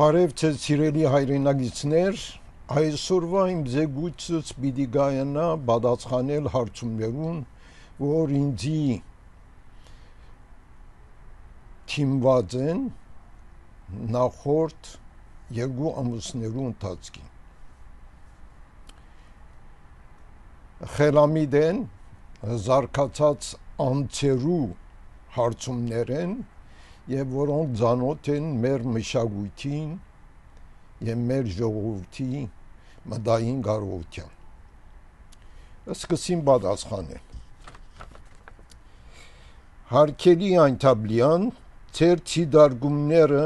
Բարև ձեզ սիրելի հայրենագիտներ, այսօրվա իմ զեկույցս պիտի գայանա պատասխանել հարցումներուն, որ ինձի թիմված են նախորդ երկու ամուսներու ընթացքին։ Խելամիտ են զարգացած անձերու հարցումներ են և որոնք ծանոթ են մեր մշակույթին և մեր ժողովրդի մտային կարողության։ Սկսեմ պատասխանել։ Հարգելի Այնթաբլյան, ձեր ցիդարգումները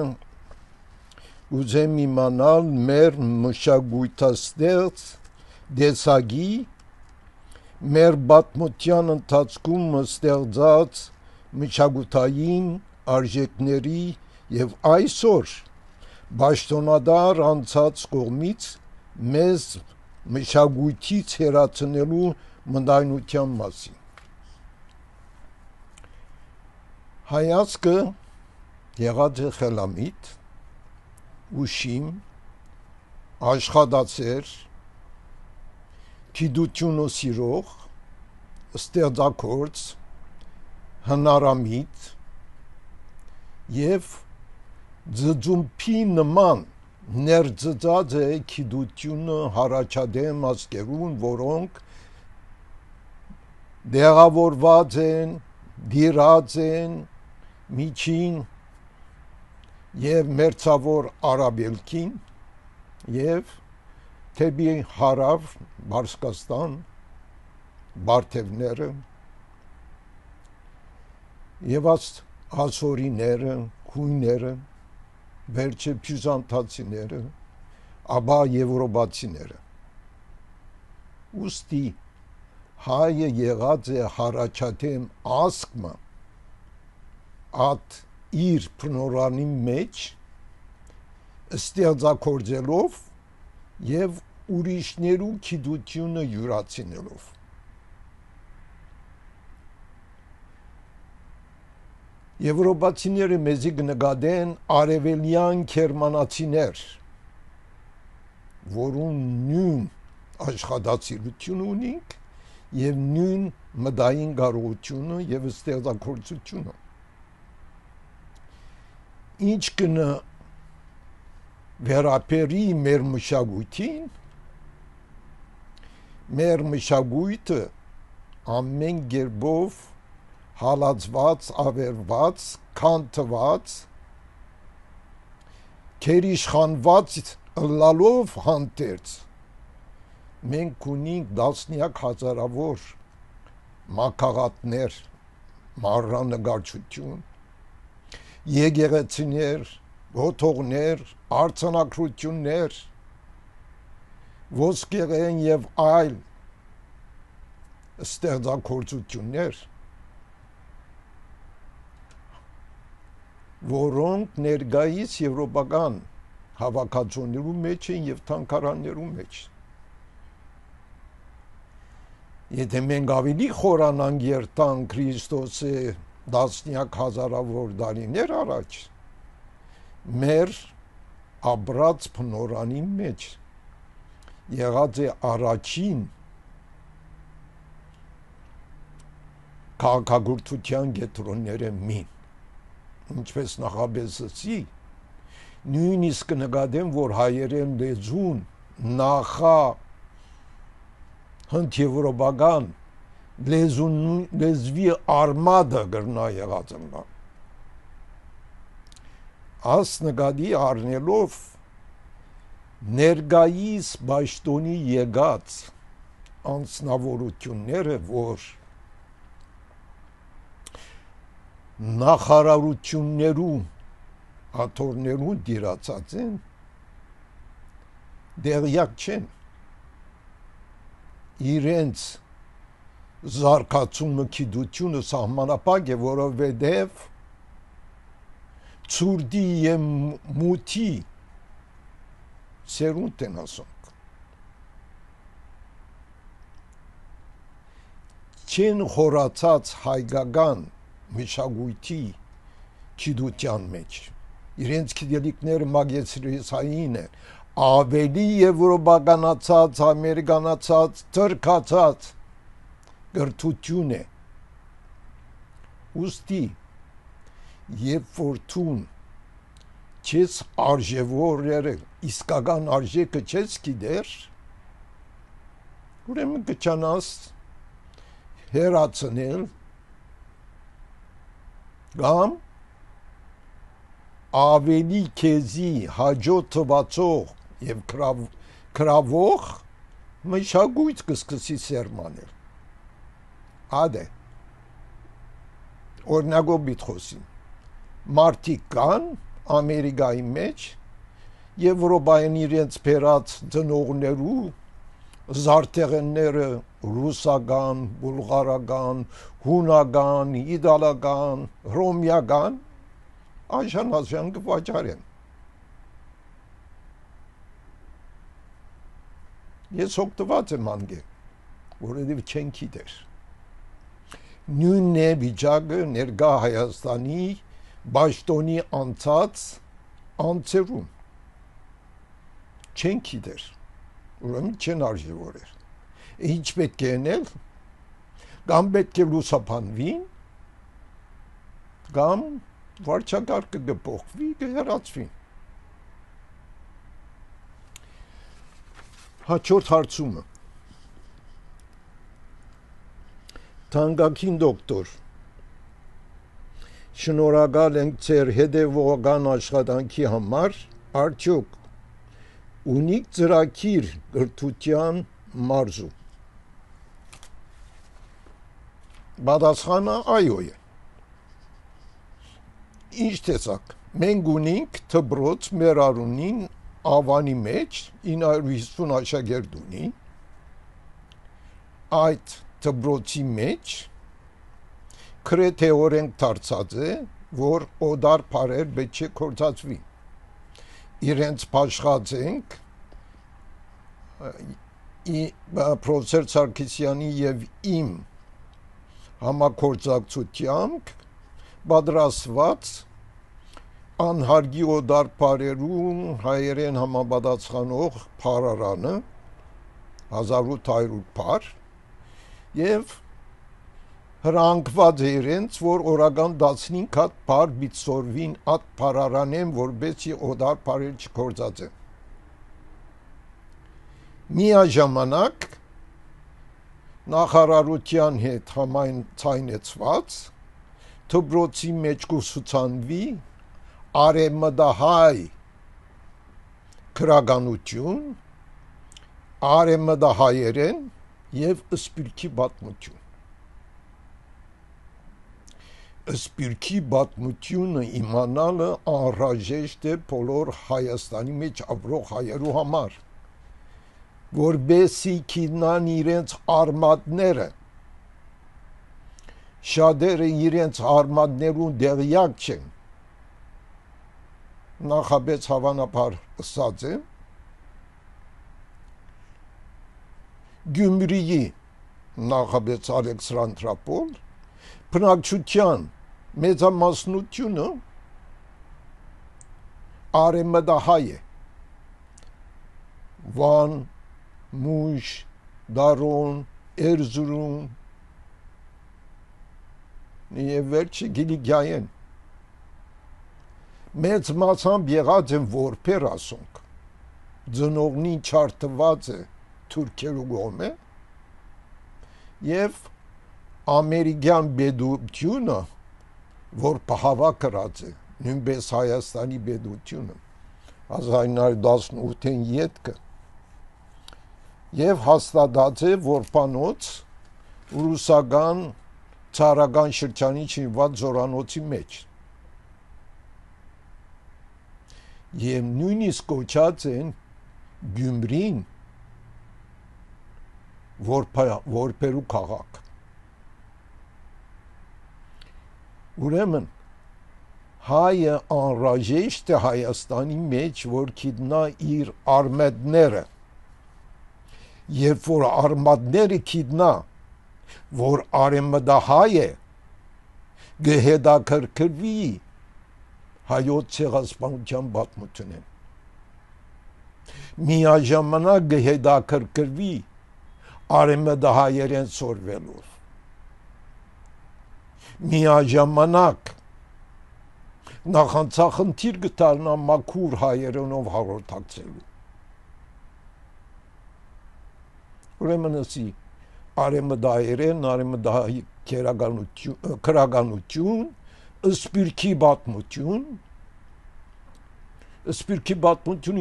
ուզեմ իմանալ մեր մշակույթաստեղծ դեսագի, մեր պատմության ընթացքում ստեղծած մշակութային արժեքների և այսօր պաշտոնատար անձած կողմից մեզ մշակույթից հեռացնելու մտայնության մասին։ Հայացքը եղած է խելամիտ, ուշիմ, աշխատասեր, գիտությունը սիրող, ստեղծագործ, հնարամիտ և ձծումփի նման ներծծած է գիտությունը հարաճադեմ ազգերուն, որոնք դեղավորված են, դիրած են միջին և մերձավոր Արաբելքին և թեպի հարավ Պարսկաստան, բարթևները և ասորիները, հույները, վերջը բյուզանդացիները, ապա եվրոպացիները։ Ուստի հայը եղած է հարաճադեմ ազգը ատ իր բնորանի մեջ ստեղծագործելով և ուրիշներու գիտությունը յուրացնելով։ Եվրոպացիները մեզի կնկատեն արևելյան գերմանացիներ, որուն նույն աշխատասիրությունը ունենք և նույն մտային կարողությունը և ստեղծագործությունը։ Ինչ կնը վերաբերի մեր մշակույթին, մեր մշակույթը ամեն կերպով հալածված, ավերված, քանթված, գերիշխանված ըլլալով հանդերձ մենք ունենք տասնյակ հազարավոր մագաղատներ, մանրանկարչություն, եկեղեցիներ, ոթողներ, արձանագրություններ, ոսկեղեն և այլ ստեղծագործություններ, որոնք ներկայիս եվրոպական հավաքածուներու մեջ են և թանգարաններու մեջ։ Եթե մենք ավելի խորանանք երթանք Քրիստոսի տասնյակ հազարավոր տարիներ առաջ, մեր ապրած բնորանի մեջ եղած է առաջին քաղաքագործության կեդրոնները մին, ինչպես նախապես ասի, նույնիսկ կնկատեմ, որ հայերեն լեզուն նախա հնդեվրոպական լեզվի արմատը գրնա եղած ընկա։ Աս նկատի առնելով ներկայիս պաշտոնի եկած անձնավորությունները, որ նախարարություններու աթոռներու դիրացած են, դեղյակ չեն իրենց զարգացումը գիտությունը սահմանապակ է, որովհետև ցուրտի և մութի սերունդ են ասոնք։ Չեն խորացած հայկական մշակույթի գիտության մեջ, իրենց գիտելիքները մագեստրիսային են, ավելի եվրոպականացած, ամերիկանացած, թրքացած գրթություն է։ Ուստի երբ որ տուն չես արժևորել, իսկական արժեքը չես գիտեր, ուրեմն կչանաս հերացնել կամ ավելի քեզի հաջո թվացող եւ քրավող մշակույթ կսկսի սերմանել։ Ադե օրինակով բիթխոսին մարդիկ կան Ամերիկայի մեջ Եվրոպայում իրենց բերած ծնողներու զարթեղենները ռուսական, բուլղարական, հունական, իտալական, հռոմեական Աշան կվաճառեն։ Ես օգտված եմ անգե, որովհետև չեն գիտեր։ Նույնն է վիճակը ներկա Հայաստանի Պաշտոնի անցած անձերում։ Չեն գիտեր, ուրեմն չեն արժևորել։ Ինչ պետք է անել, կամ պետք է լուսաբանվին, կամ վարչակարգը կփոխվի, կհեռացվի։ Հաջորդ հարցումը։ Թանկագին դոկտոր, շնորհակալ ենք ձեր հետևողական աշխատանքի համար, արդյոք ունիք ծրագիր գրթության մարզու։ Պատասխանը այո է։ Ինչ տեսակ, մենք ունենք դպրոց մեր արունին Ավանի մեջ 950 աշակերտ ունի, այդ դպրոցի մեջ գրեթե օրենք դարձած է, որ օդար բարեր պետք է կործածվի։ Իրենց փաշխած ենք պրոֆեսոր Սարգսյանի եւ իմ համագործակցությամբ պատրաստված անհարգի օդար բարերում հայերեն համապատասխանող փարարանը 1800 փար եւ հրանգված է իրենց, որ օրական 15 հատ փար բիցորվին այդ փարարանեն, որբեսի օդար բարեր չկործածեն։ Միաժամանակ նախարարության հետ համաձայնեցված դպրոցի մեջ կուսուցանվի արեմդահայ քրագանություն, արեմդահայերեն եւ սպիրկի պատմություն։ Սպիրկի պատմությունը իմանալը անհրաժեշտ է բոլոր Հայաստանի մեջ ապրող հայերու համար, որբեսի գիտնան իրենց արմատները, շատերը իրենց արմատներուն դեղյակ չեն, նախաբեց հավանաբար ըսած է, Գյումրիի նախաբեց Ալեքսանդրապոլ, բնակչության մեծամասնությունը արեմդահայ է, Վան, Մուշ, Դարոն, Էրզուրում եւ վերջը Գիլիգիայեն։ Մեծ մասամբ եղած են որբեր ասոնք, ծնողնին չարտված է թուրքերու կողմէ եւ ամերիկյան բեդությունը, որ պահավա կրած է, նույնպես Հայաստանի բեդությունը, 1918-ին ետքը, եւ հաստատած է որբանոց ռուսական ցարական շրջանի չինված զորանոցի մեջ։ Եվ նույնիսկ կոչած են Գյումրին որբերու քաղաք։ Ուրեմն հայը անհրաժեշտ է Հայաստանի մեջ, որ գիտնա իր արմատները, երբ որ արմատները գիտնա, որ արեմդահայ է, գհետաքրքրվի հայոց ցեղասպանության պատմությունն միաժամանակ գհետաքրքրվի արեմդահայերեն սորվելով միաժամանակ նախանցախնդիր գտարնա մաքուր հայերենով հաղորդակցելու ուրեմն ասի արեմդահայերեն արեմդահայ քրագանություն սպիրկի պատմություն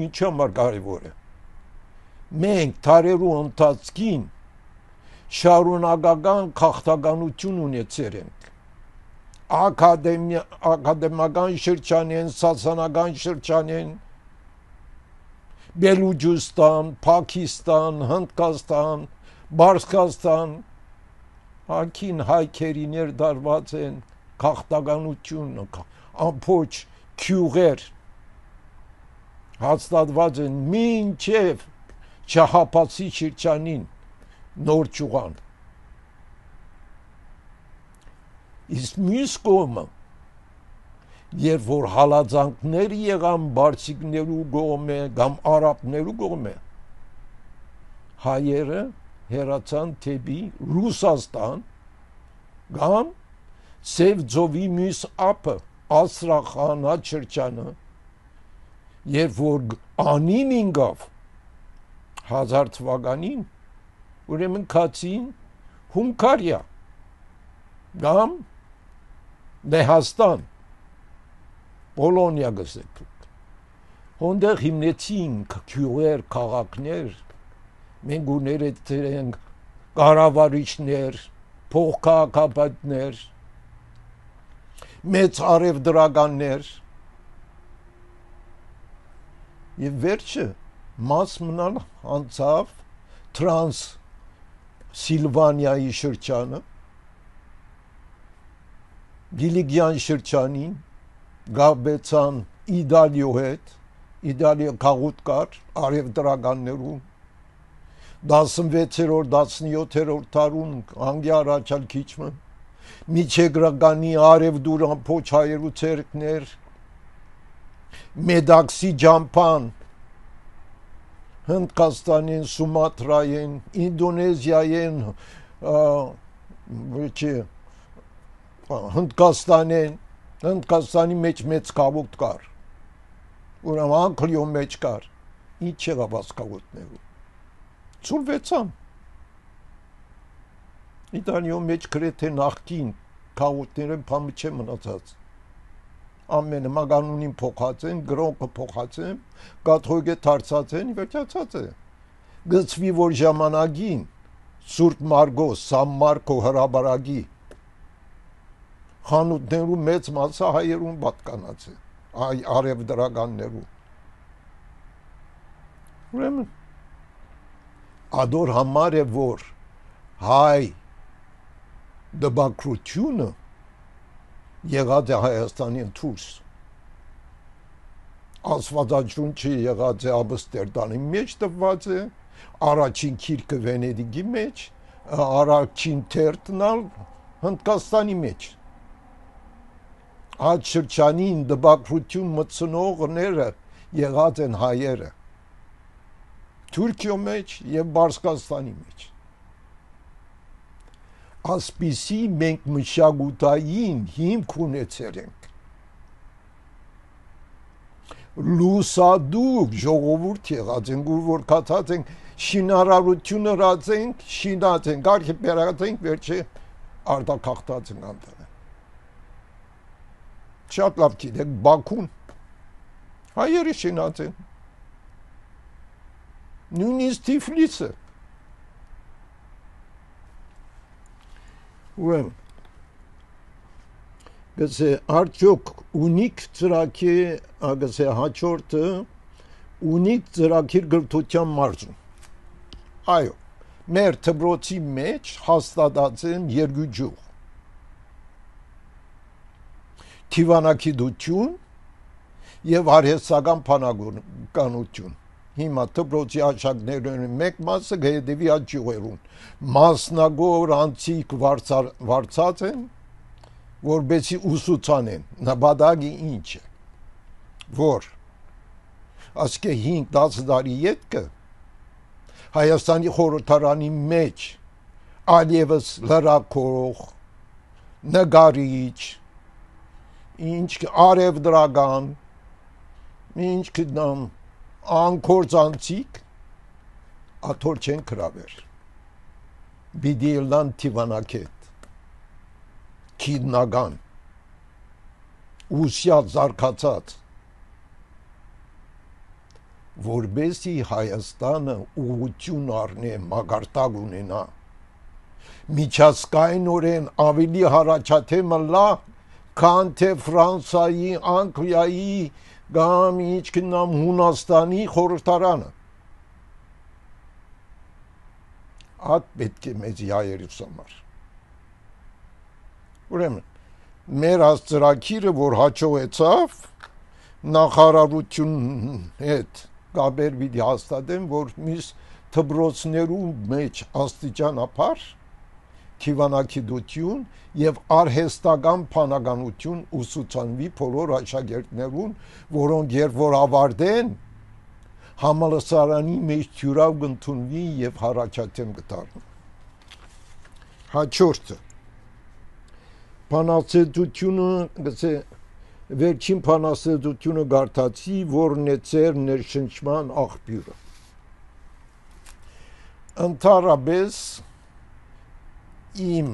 ինչ համար կարևոր է մենք թարերու ընթացքին շարունակական քաղաքականություն ունեցել ենք ակադեմիական շրջանեն սասանական շրջանեն Բելուջստան, Պակիստան, Հնդկաստան, Բարսկաստան հակին հայքերիներ դարված են քաղաքականություն ամփոչ քյուղեր հաստատված են մինչև Շահապատի շրջանին նոր ճուղան իսկ մյուս կողմը երբ որ հալածանքներ եղան բարձիկներու կողմէ կամ արաբներու կողմէ հայերը հեռացան թեպի Ռուսաստան կամ Սև ծովի մյուս ափը Աստրախան շրջանը երբ որ անին ինգավ 1000 թվականին ուրեմն քացին Հունգարիա կամ Լեհաստան Պոլոնիա գսեք հոնդեղ հիմնեցին քյուղեր քաղաքներ մենք ուներեցինք կառավարիչներ փոխքաղաքապետներ մեծ արևդրականներ եւ վերջը մաս մնալ անցավ տրանս Սիլվանիայի շրջանը Գիլիգյան շրջանին գաբեցան Իտալիո հետ Իտալիա քաղուտ կար արևդրականներում 16-րդ 17-րդ դարուն անգլիա առաջարկիչը միջեգրականի արևդուրան փոչ հայերու ցերկներ Մեդաքսի ջամփան Հնդկաստանին Սումատրային Ինդոնեզիային Հնդկաստանի մեջ մեծ կավուտ կար ուրեմն անկլիո մեջ կար ինչ եղավ ասկավուտներու ծուլվեցան Իտալիո մեջ գրեթե նախքին կավուտները փամը չէ մնացած ամենը մագանունին փոխած են գրոնկը փոխած են կաթողիկե դարձած են վերջացած է գծվի որ ժամանակին Սուրբ Մարգոս Սան Մարկո հրաբարագի խանութներու մեծ մասը հայերուն պատկանած է արևդրականներու ուրեմն ադոր համար է որ հայ դբակրությունը եղած է Հայաստանին դուրս Աստվածաշունչը եղած է Ամստերդամի մեջ տված է առաջին քիրքը Վենեդիգի մեջ առաջին թերթնալ Հնդկաստանի մեջ այդ շրջանին դբակրություն մտցնողները եղած են հայերը Թուրքիո մեջ եւ Բարսկաստանի մեջ ասպիսի մենք մշակութային հիմք ունեցել ենք լուսադուկ ժողովուրդ եղած ենք որ կացած ենք շինարարությունը ռացենք շինած ենք արխիպելագած ենք վերջը արտակախտած ենք անտեղ շատ լավ գիտեք Բաքուն հայերը շինած են նույնիսկ Թիֆլիսը ուրեմն գսե արդյոք ունիկ ծրագիր գսե հաջորդը ունիկ ծրագիր գրթության մարզում այո մեր դպրոցի մեջ հաստատած են երկու ջուղ Թիվանակիդություն եւ արհեստական բանականություն հիմա դպրոցի աշակերտներն մեկ մասը գեդեվի աճյուղերուն մասնագոր անցիկ վարծած են որբեցի ուսուցանեն նպատակը ինչ է որ ասկե 5-10 տարի ետքը Հայաստանի խորհրդարանի մեջ այլևս լրակող, նկարիչ, ինչ արևդրական, ինչ կդամ անկործանցիկ աթոր չեն կրավեր բիդիլան տիվանակետ քիդնական ուսյալ զարկացած որբեսի Հայաստանը ուղղություն առնե մագարտակ ունենա միջազգայինորեն ավելի հարաճաթեմը լա քան թե Ֆրանսիայի, Անգլիայի կամ ինչ կնամ Հունաստանի խորհրդարանը այդ պետք է մեծ հայերիս համար ուրեմն մեր ծրագիրը որ հաջողեցավ նախարարություն հետ գաբեր պիտի հաստատեն որ միս դպրոցներու մեջ աստիճանաբար թիվանակիդություն եւ արհեստական փանականություն ուսուցանվի բոլոր աշակերտներուն որոնք երբ որ ավարտեն համալսարանի մեջ թյուրավ կընդունվի եւ հարաճաթեմ կդառնա հաջորդը բանաստեղծությունը գցե վերջին բանաստեղծությունը գարտացի որն է ծեր ներշնչման աղբյուրը ընդհանրապես իմ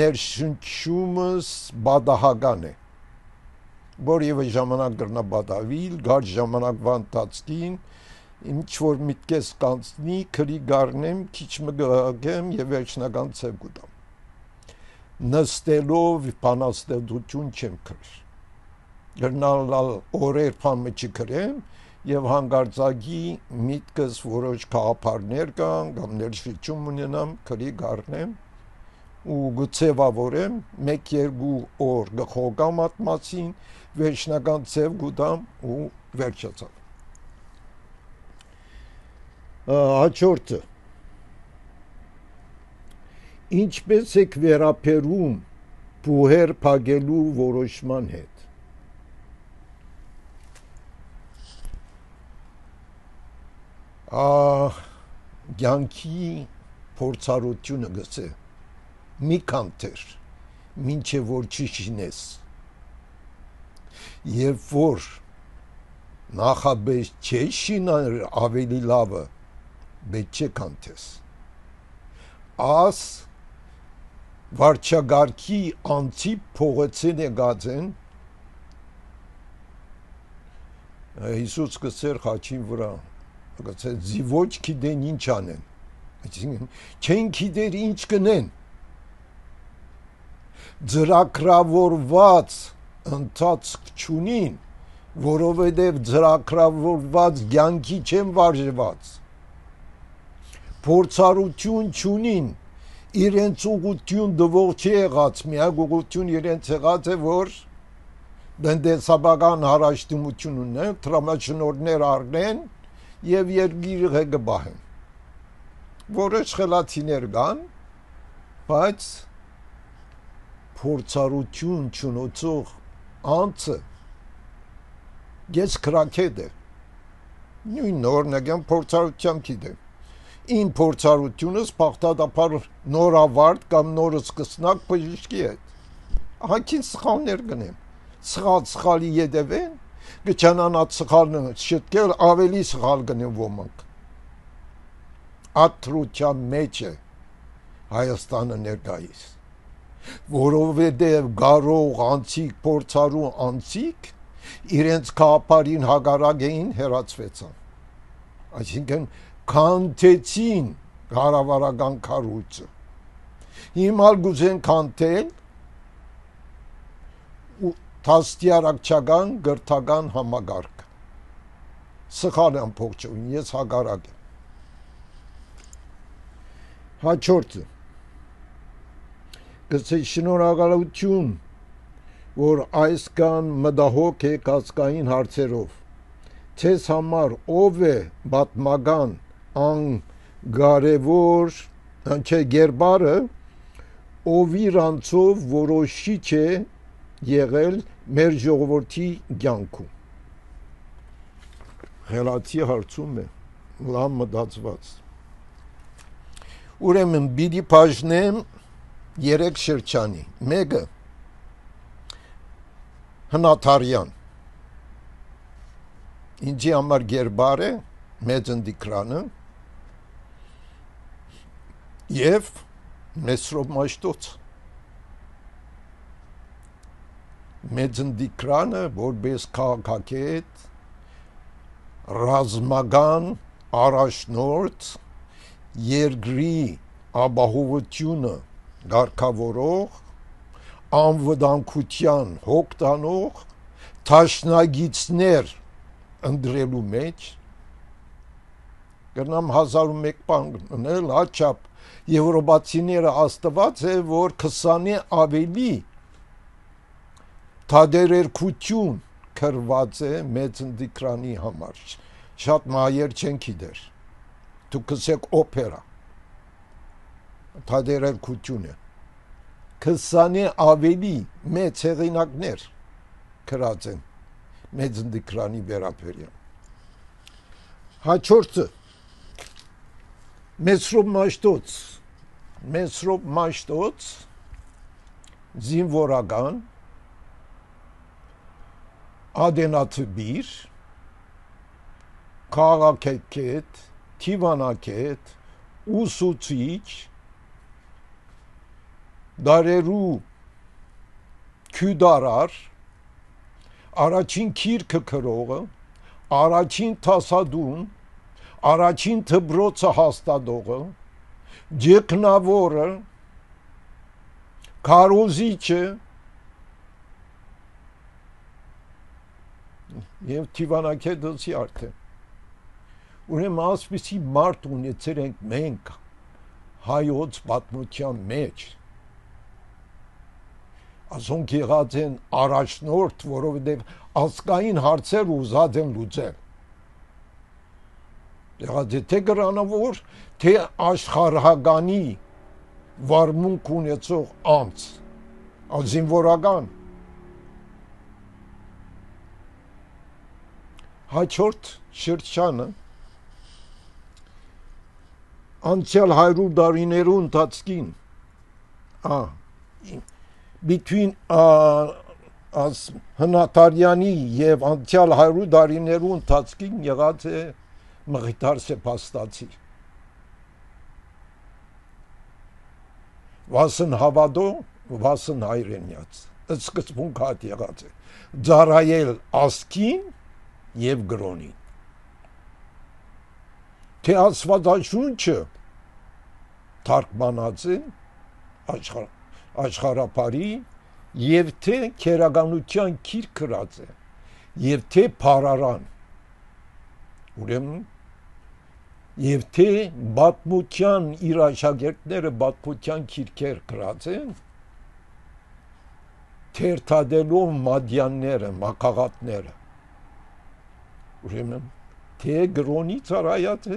ներշնչումս բադահական է որևէ ժամանակ կրնա բադավիլ գար ժամանակվա ընթացքին ինչ որ միտքես կանցնի քրի գառնեմ քիչ մգեմ եւ վերջնական ցև գտամ նստելով բանաստեղծություն չեմ քրել գնալ օրեր փամը չքրեմ եւ հանգարցակի միտքս որոշ կապարներ կան կամ ներշնչում ունենամ քրի գառնեմ ու գծեվավորեմ 1-2 օր գխոգամ այդ մասին վերջնական ցև գտամ ու վերջացավ հաջորդը ինչպես եք վերապերում բուհեր փակելու որոշման հետ կյանքի փորձառությունը գցե մի կանտեր մինչև որ չիշինես երբ որ նախաբես չեշինար ավելի լավը բետ չէ կանտես աս վարչագարքի անցի փողոցին է գածեն Հիսուս կսեր խաչին վրա գցե զիվոչ գիտեն ինչ անեն այսինքն չեն գիտեր ինչ կնեն ծրագրավորված ընթացք չունին որովհետև ծրագրավորված կյանքի չեն վարժված փորձառություն չունին իրենց ուղղություն դվող չի եղած միակ ուղղություն իրենց եղած է որ դնդեսաբական հարաշտումություն ունեն տրամաշնորհներ առնեն եւ երկիրը գբահեն որոշ խելացիներ կան բայց փորձառություն չունեցող անձը ես քրակետ է նույն օրնական փորձառությամբ գիտեմ իմ փորձառությունս բաղդադապար նորավարտ կամ նոր սկսնակ բժշկի հետ հակին սխալներ գնեմ սխալի ետևեն գճանանած սխալը շտկել ավելի սխալ գնեն ոմանք աթրության մեջ է Հայաստանը ներկայիս որովհետև գարող անցիկ փորձառու անցիկ իրենց կապարին հագարակ էին հերացվեցան այսինքն քանթեցին կառավարական կառույցը հիմա գուզեն քանթել Թաստիարակչական գրթական համագարկ սխալ ամփոփություն ես հագարակ եմ հաջորդը գցե շնորհակալություն որ այս կան մտահոգ է կասկային հարցերով ցես համար ով է պատմական անգարևոր չէ գերբարը ով իրանցով որոշիչ է եղել մեր ժողովրդի կյանքում Խելացի հարցում է, լավ մտածված։ Ուրեմն պիտի բաժնեմ 3 շրջանի։ Մեկը հնաթարյան, ինձի համար գերբար է, մեծ ընդիկրանը, և Մեսրոպ Մաշտոց։ Մեծ ընդիկրանը, որպես քաղաքագետ, ռազմական առաջնորդ, երկրի ապահովությունը ղեկավարող, անվտանգության հոգ տանող, դաշնակիցներ ընտրելու մեջ կրնամ 1001 բան գնել, հաճապ եվրոպացիները աստված է, որ 20-ի ավելի թադերերքություն կրված է մեծ ընդիկրանի համար, շատ մայեր չեն գիտեր, դուք կսեք օպերա, թադերերքություն է, 20-ի ավելի մեծ հեղինակներ կրած են մեծ ընդիկրանի վերաբերյալ։ Հաջորդը Մեսրոպ Մաշտոց զինվորական, ադենաթբիր, քաղաքագետ, դիվանագետ, ուսուցիչ, դարերու քյուդարար, առաջին գիրքը գրողը, առաջին թասադուն, առաջին դպրոցը հաստատողը, ջեքնավորը, քարոզիչը և դիվանագետի արդեն։ Ուրեմն ասպիսի մարդ ունեցել ենք մենք հայոց պատմության մեջ, ասոնք եղած են առաջնորդ, որովհետև ազգային հարցեր ուզած են լուծել։ Եղած է թե գրանավոր, թե աշխարհականի վարմունք ունեցող անձ, զինվորական։ Հաջորդ շրջանը անցյալ 100 տարիներու ընթացքին հնաթարյանի և անցյալ 100 տարիներու ընթացքին եղած է Մղիթար Սեփաստացի, Վասն Հավադո, Վասն Հայրենյաց, սկզբունք հատ եղած է, ծառայել ազգին և գրոնին, թե Աստվածաշունչը թարգմանած է աշխարհապարի և թե քերականության գիրք գրած է և թե փարարան, ուրեմն և թե պատմության իր աշակերտները պատմության գիրքեր գրած են, թերթադելով մադյանները, մակաղատները, ուրեմն թե գրոնի ծառայած է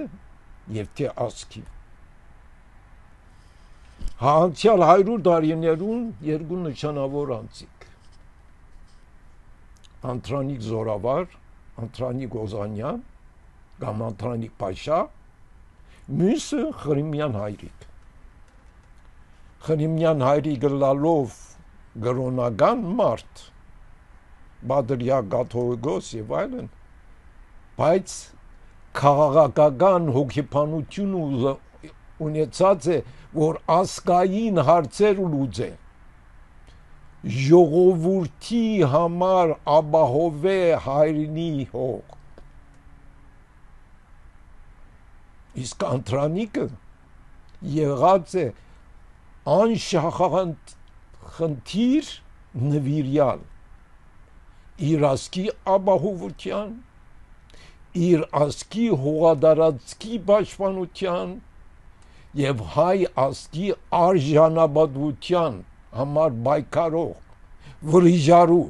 և թե ազգի։ Անցյալ 100 տարիներուն երկու նշանավոր անձիկ, Անդրանիկ Զորավար, Անդրանիկ Օզանյան կամ Անդրանիկ Փաշա, մյուսը Խրիմյան Հայրիկ։ Խրիմյան Հայրիկը լալով գրոնական մարդ, Բադրյակ Կաթողիկոս եւ այլն, բայց քաղաքական հոգեբանություն ունեցած է, որ ազգային հարցեր լուծե, ժողովրդի համար ապահովե հայրենի հող։ Իսկ Անդրանիկը եղած է անշահախնդիր նվիրյալ իր ազգի ապահովության, իր ազգի հողատարածքի պաշտպանության և հայ ազգի արժանապատվության համար պայքարող, վրիժարու,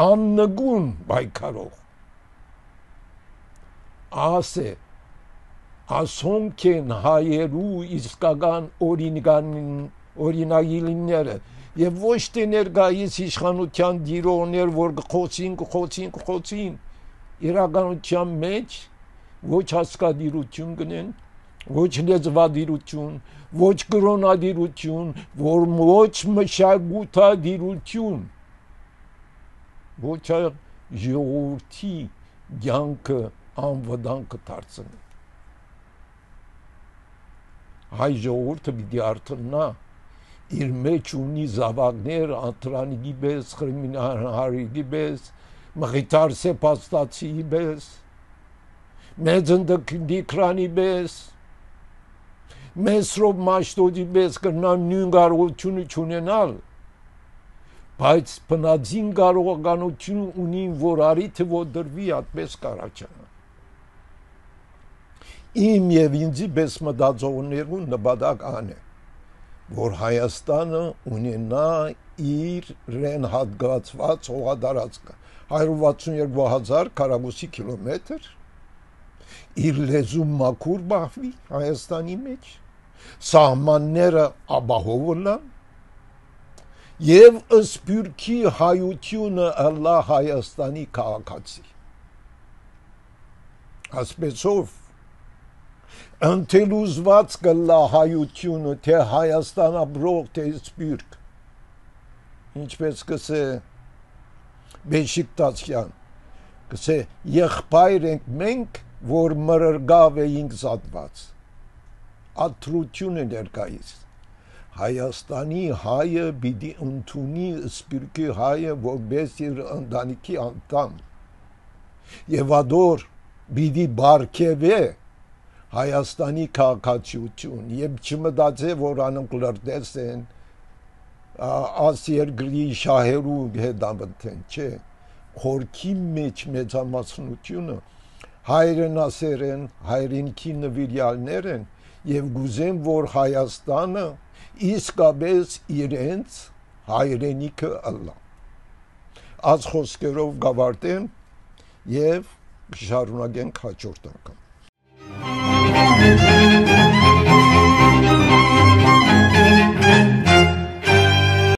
աննգուն պայքարող, ասե ասոնք են հայերու իսկական օրինագիլները եւ ոչ թե ներկայիս իշխանության դիրոներ, որ կխոցին, իրականության մեջ ոչ հասկադիրություն գնեն, ոչ լեզվադիրություն, ոչ կրոնադիրություն, ոչ մշակութադիրություն, ոչ ժողովրդի կյանքը անվտանգ կդարձնի։ Հայ ժողովուրդը պիտի արթնա, իր մեջ ունի զավակներ, անտրանիկի պես, խրմինահարիկի պես, մղիտար սեպաստացի պես, մեծ ընդդիքրանի պես, մեսրով մաշտոդի պես կրնան նույն կարողությունը չունենալ, բայց բնածին կարողականություն ունին, որ արիթը որդրվի ատպես կարաչանա։ Իմ և ինձի պես մտածողներու նպատակ ան է, որ Հայաստանը ունենա իրեն հատկացված հողատարածքը 162,000 քառակուսի կիլոմետր, իր լեզու մաքուր բախվի Հայաստանի մեջ, սահմանները ապահով լան, և սփյուռքի հայությունը ըլլա Հայաստանի քաղաքացի։ Ասպեսով ընթելուզված կլա հայությունը, թե Հայաստան ապրող, թե սփյուռք, ինչպես կսե Բեշիկտասյան, կսե եղբայր ենք մենք, որ մրրգավ էինք զատված, աթրությունը ներկայիս, Հայաստանի հայը պիտի ընդունի սփյուռքի հայը որպես իր ընտանիքի անդամ, և ադոր պիտի բարգևե Հայաստանի քաղաքացիություն, և չմտածե, որ անոնք լրտես են, աս երկրի շահերու հետամտեն, չէ, խորքի մեջ մեծամասնությունը հայրենասեր են, հայրենիքի նվիրյալներ են, և գուզեն, որ Հայաստանը իսկապես իրենց հայրենիքը ըլլա։ Այս խոսքերով գավարտեմ և շարունակենք հաջորդ անգամ։